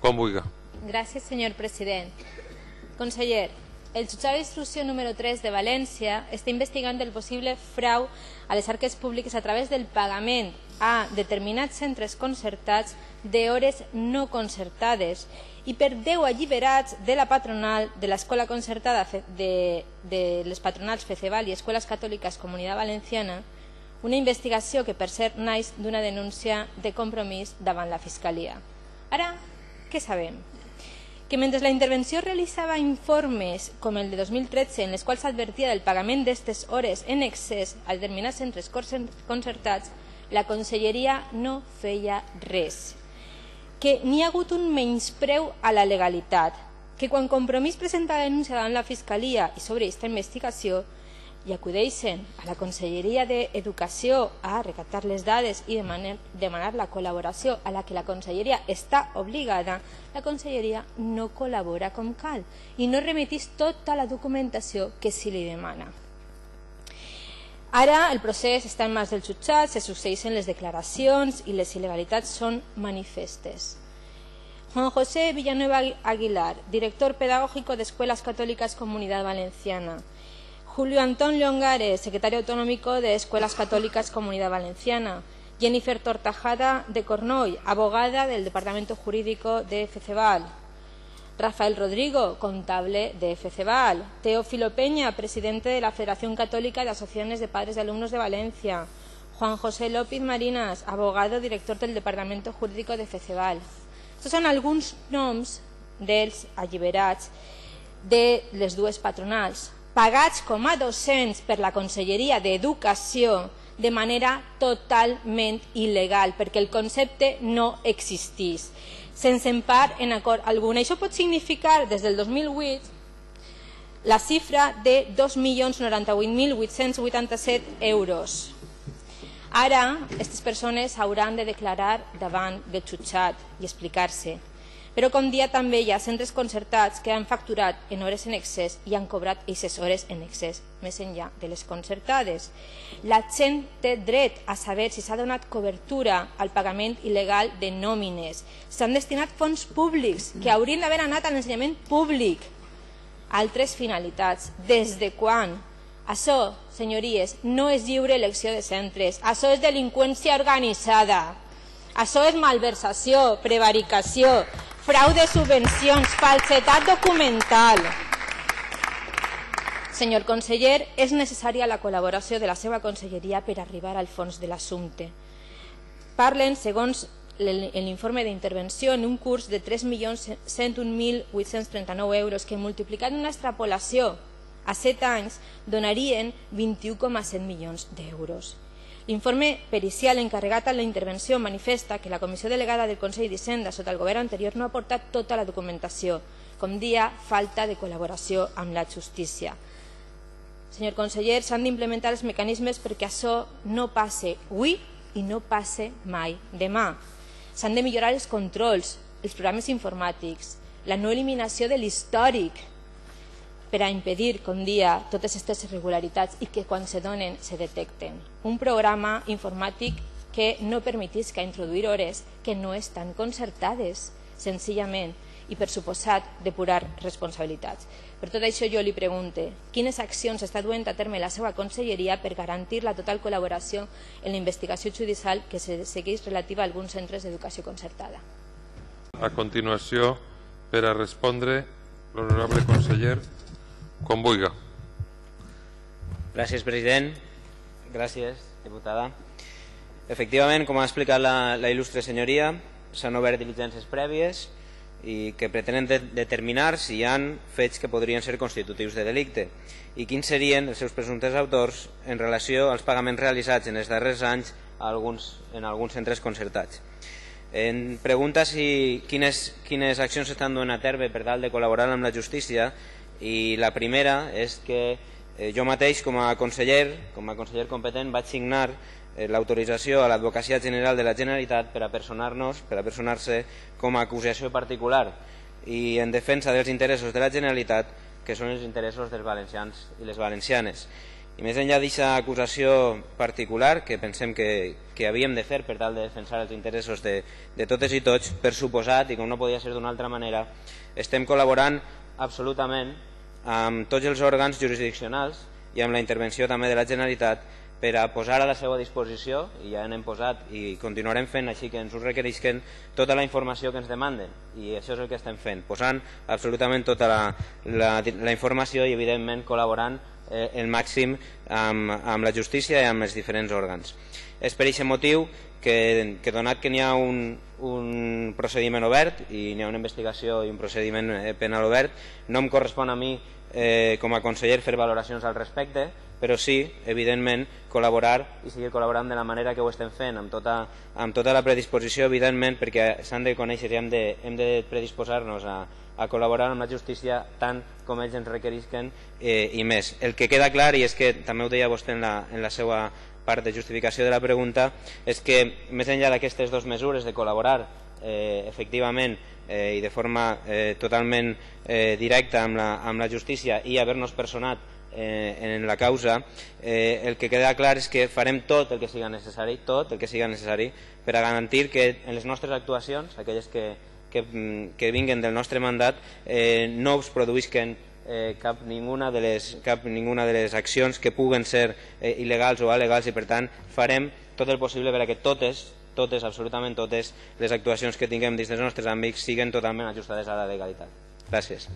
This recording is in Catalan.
Com vulgui. Gràcies, senyor president. Conseller, el jutjat d'instrucció número 3 de València està investigant el possible frau a les arques públiques a través del pagament a determinats centres concertats d'hores no concertades i per 10 alliberats de la patronal de l'escola concertada de les patronals Feceval i Escoles Catòliques Comunitat Valenciana, una investigació que per cert naix d'una denúncia de Compromís davant la Fiscalia. Ara, què sabem? Que mentre la intervenció realitzava informes com el de 2013 en els quals s'advertia del pagament d'aquestes hores en excés a determinats centres concertats, la Conselleria no feia res. Que n'hi ha hagut un menyspreu a la legalitat, que quan Compromís presenta la denúncia davant la Fiscalia i sobre aquesta investigació i acudeixen a la Conselleria d'Educació a recaptar les dades i demanar la col·laboració a la que la Conselleria està obligada, la Conselleria no col·labora com cal i no remetís tota la documentació que se li demana. Ara el procés està en mans del jutjat, se succeeixen les declaracions i les il·legalitats són manifestes. Juan José Villanueva Aguilar, director pedagógico de Escuelas Católicas Comunidad Valenciana. Julio Antón Llongares, secretario autonómico de Escuelas Católicas Comunidad Valenciana. Jennifer Tortajada de Cornoy, abogada del Departamento Jurídico de Feceval. Rafael Rodrigo, contable de Feceval. Teófilo Peña, presidente de la Federación Católica de Asociaciones de Padres de Alumnos de Valencia. Juan José López Marinas, abogado, director del Departamento Jurídico de Feceval. Estos són alguns noms dels alliberats de les dues patronals, pagats com a docents per la Conselleria d'Educació de manera totalment il·legal, perquè el concepte no existís, sense empar en acord alguna. Això pot significar, des del 2008, la xifra de 2.098.887 euros. Ara, aquestes persones hauran de declarar davant del jutjat i explicar-se. Però com dia també hi ha centres concertats que han facturat en hores en excés i han cobrat aquestes hores en excés, més enllà de les concertades. La gent té dret a saber si s'ha donat cobertura al pagament il·legal de nòmines. S'han destinat fons públics que haurien d'haver anat a l'ensenyament públic a altres finalitats. Des de quan? Això, senyories, no és lliure elecció de centres. Això és delinqüència organitzada. Això és malversació, prevaricació, frau de subvencions, falsedat documental. Senyor conseller, és necessària la col·laboració de la seva conselleria per arribar al fons de l'assumpte. Parlen, segons l'informe d'intervenció, en un curs de 3.101.839 euros que multiplicat una extrapolació a 7 anys donarien 21,7 milions d'euros. L'informe pericial encarregat a la intervenció manifesta que la comissió delegada del Consell d'Hisenda sota el govern anterior no ha aportat tota la documentació, com dia falta de col·laboració amb la justícia. Senyor conseller, s'han d'implementar els mecanismes perquè això no passe avui i no passe mai demà. S'han de millorar els controls, els programes informàtics, la no eliminació de l'històric, per a impedir, com dia, totes aquestes irregularitats i que quan se donen se detecten. Un programa informàtic que no permetisca introduir hores que no estan concertades, senzillament, i per suposat depurar responsabilitats. Per tot això jo li pregunte, quines accions està duent a terme la seva conselleria per garantir la total col·laboració en la investigació judicial que se segueix relativa a alguns centres d'educació concertada? A continuació, per a respondre, l'honorable conseller, com vulgui. Gràcies, president. Gràcies, diputada. Efectivament, com ha explicat la il·lustre senyoria, s'han obert diligències prèvies i que pretenen determinar si hi ha fets que podrien ser constitutius de delicte i quins serien els seus presumptes autors en relació als pagaments realitzats en els darrers anys en alguns centres concertats. En pregunta si quines accions s'estan duent a terme per tal de col·laborar amb la justícia, i la primera és que jo mateix com a conseller competent vaig signar l'autorització a l'Advocacia General de la Generalitat per a personar-se com a acusació particular i en defensa dels interessos de la Generalitat, que són els interessos dels valencians i les valencianes. I més enllà d'aquesta acusació particular que pensem que havíem de fer per tal de defensar els interessos de totes i tots, per suposat, i com no podia ser d'una altra manera, estem col·laborant absolutament amb tots els òrgans jurisdiccionals i amb la intervenció també de la Generalitat per a posar a la seva disposició, i ja n'hem posat i continuarem fent així que ens ho requerisquen, tota la informació que ens demanden, i això és el que estem fent, posant absolutament tota la informació i evidentment col·laborant el màxim amb la justícia i amb els diferents òrgans. És per aquest motiu que donat que n'hi ha un procediment obert i n'hi ha una investigació i un procediment penal obert, no em correspon a mi com a conseller fer valoracions al respecte, però sí, evidentment, col·laborar i seguir col·laborant de la manera que ho estem fent, amb tota la predisposició, evidentment, perquè s'han de conèixer i hem de predisposar-nos a col·laborar amb la justícia tant com ells ens requerisquen i més. El que queda clar, i és que també ho deia vostè en la seva part de justificació de la pregunta, és que més enllà d'aquestes dues mesures de col·laborar efectivament i de forma totalment directa amb la justícia i haver-nos personat en la causa, el que queda clar és que farem tot el que siga necessari, per a garantir que en les nostres actuacions, aquelles que vinguen del nostre mandat, no es produïsquen cap ninguna de les accions que puguen ser il·legals o alegals, i per tant farem tot el possible per a que totes, absolutament totes, les actuacions que tinguem dins dels nostres àmbits siguen totalment ajustades a la legalitat. Gràcies.